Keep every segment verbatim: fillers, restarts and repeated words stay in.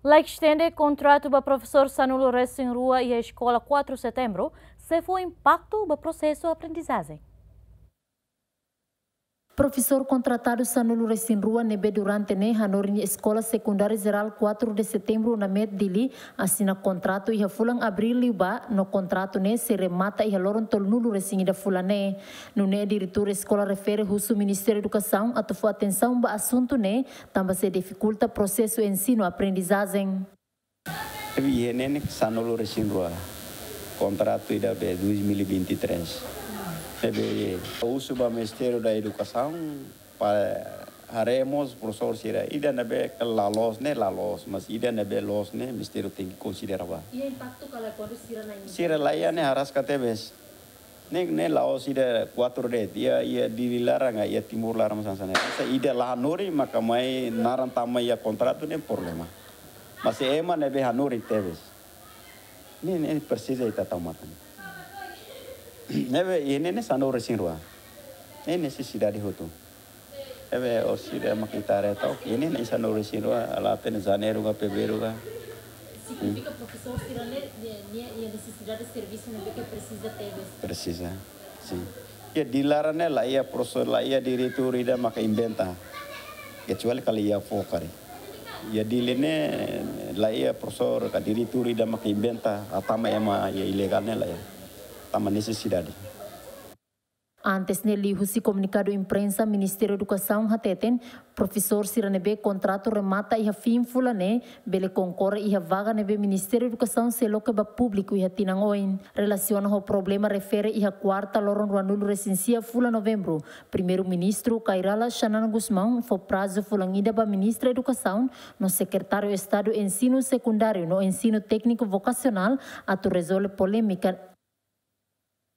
La estende kontratu ba profesór sanulu resin rua iha eskola quatro Setembro sei fó impaktu ba prosesu aprendizajen. Profesór kontratadu sanulu resin rua ne'ebé durante ne'e hanorin Eskola Sekundária Jerál quatro de Setembro, UNAMET Dili, asina kontratu iha fulan Abríl liubá, no kontratu ne'e sei remata iha loron tolunulu resin ida fulan ne'e. Nune'e diretór eskola refere husu Ministériu Edukasaun atu fó atensaun ba asuntu ne'e, tanba sei difikulta prosesu ensinu aprendizajen. Ne'ebé iha ne'e ne'e sanulu resin rua. Kontratu ida be dois mil e vinte e três. Ne'ebé husu ba Ministériu da Edukasaun para haree mós profesór sira. Ida ne'ebé ke la loos ne'e la loos, mas ida ne'ebé loos ne'e Ministériu tenke konsidera ba. Iha impaktu kala kuandu sira la iha? Sira la iha ne'e araska tebes. Ne'e, ne'e la'ós ida quatro D, iha, iha Dili laran, iha Timor laran mós hanesan ne'e. Ida la hanorin maka mai naran tama iha kontratu ne'e problema. Mas ema ne'ebé hanorin tebes. Ne'e, ne'e presiza ita tau matan. Ne'ebé, iha ne'e ne'e sanulu resin rua. Ne'e nesesidade hotu. Ne'ebé orsida mak ita haree tau, iha ne'e ne'e sanulu resin rua, la hatene Janeiru ka Fevereiru ka. Signifika profesór sira-ne'e, nia, nia iha nesesidade servisu ne'ebé ke presiza tebes. Presiza, sin. Iha Dili laran ne'e la iha profesór, la iha diretór ida maka inventa. Kecuali kala iha fó karik. Iha Dili ne'e la iha profesór ka diretór ida maka inventa, hatama ema iha ilegál ne'e la iha. Tanba nesesidade. Antes ne'e liuhusi komunikadu imprensa, Ministériu Edukasaun hateten, profesór sira ne'ebé kontratu remata iha fin fulan ne'e, bele konkorre iha vaga ne'ebé Ministériu Edukasaun sei loke ba públiku iha tinan oin. Relasiona ho problema refere iha kuarta loron ruanulu resin sia fulan Novembru, Primeiru-Ministru Kay Rala Xanana Gusmão fó prazu fulan ida ba Ministra Edukasaun no Sekretáriu Estadu Ensinu Sekundáriu no Ensinu Tékniku Vokasionál atu rezolve polémika.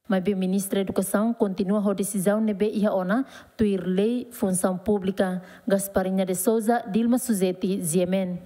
Maibé Ministra Edukasaun kontinua ho desizaun ne'ebé iha ona, tuir lei funsaun públika. Gasparinha de Souza, Dilma Suzeti, G M N.